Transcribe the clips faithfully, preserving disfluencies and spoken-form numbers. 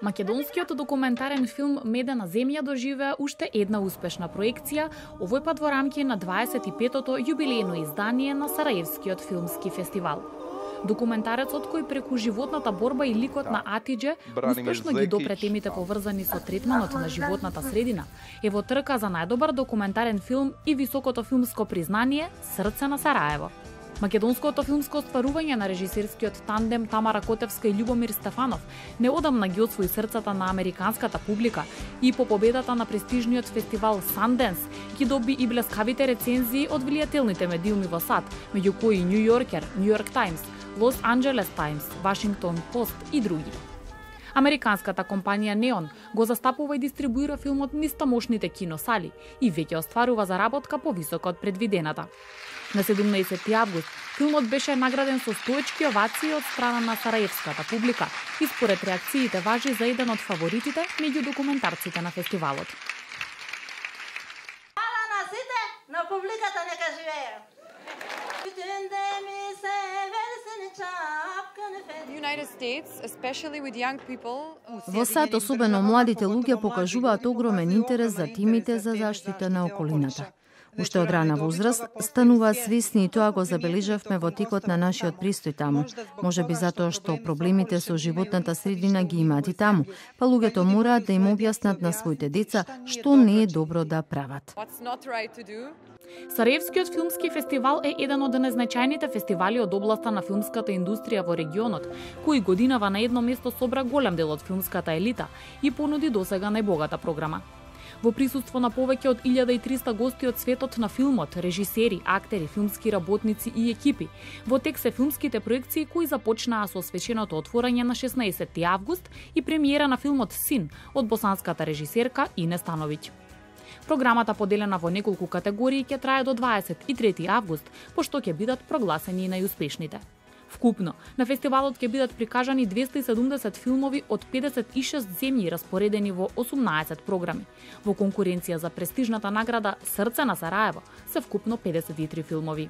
Македонскиот документарен филм Медена земја доживеа уште една успешна проекција, овој пат во рамки на дваесет и петото јубилејно издание на Сараевскиот филмски фестивал. Документарецот кој преку животната борба и ликот на Атидже успешно ги допре темите поврзани со третманот на животната средина, е во трка за најдобар документарен филм и високото филмско признание Срце на Сараево. Македонското филмско остварување на режисерскиот тандем Тамара Котевска и Љубомир Стефанов неодамна ги освои срцата на американската публика и по победата на престижниот фестивал Sundance ги доби и блескавите рецензии од влијателните медиуми во САД, меѓу кои Нью Йоркер, Нью Йорк Таймс, Лос Анџелес Таймс, Вашингтон Пост и други. Американската компанија Неон го застапува и дистрибуира филмот низ тамошните киносали и веќе остварува заработка повисока од предвидената. На седумнаесети август филмот беше награден со стоечки овации од страна на сараевската публика и според реакциите важи за еден од фаворитите меѓу документарците на фестивалот. Хвала на сите, на публиката нека живее. Во САД, особено младите луѓе покажуваат огромен интерес за тимите за заштита на околината. Уште од рана возраст стануваат свесни и тоа го забележавме во текот на нашиот престој таму. Можеби затоа што проблемите со животната средина ги имаат и таму, па луѓето мораат да им објаснат на своите деца што не е добро да прават. Сараевскиот филмски фестивал е еден од најзначајните фестивали од областа на филмската индустрија во регионот, кој годинава на едно место собра голем дел од филмската елита и понуди досега најбогата програма. Во присуство на повеќе од илјада и триста гости од светот на филмот, режисери, актери, филмски работници и екипи, во тек се филмските проекции кои започнаа со свеченото отворање на шеснаесети август и премиера на филмот Син од босанската режисерка Ине Становиќ. Програмата, поделена во неколку категории, ќе трае до дваесет и трети август, пошто ќе бидат прогласени и најуспешните. Вкупно, на фестивалот ќе бидат прикажани двесте и седумдесет филмови од педесет и шест земји распоредени во осумнаесет програми. Во конкуренција за престижната награда Срце на Сараево се вкупно педесет и три филмови.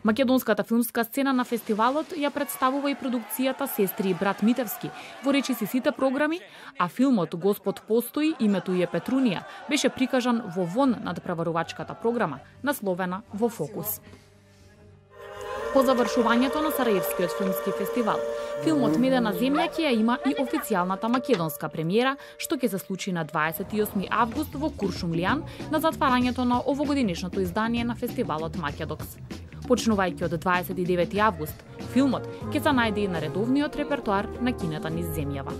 Македонската филмска сцена на фестивалот ја представува и продукцијата Сестри и брат Митевски во речиси сите програми, а филмот Господ постои, името е Петрунија беше прикажан во вон надпреварувачката програма, насловена Во фокус. По завршувањето на Сараевскиот филмски фестивал, филмот Медена земја ќе ја има и официјалната македонска премиера, што ќе се случи на дваесет и осми август во Куршумлијан на затварањето на овогодинешното издание на фестивалот Македокс. Почнувајќи од дваесет и девети август, филмот ќе се најде и на редовниот репертоар на кината низ земјава.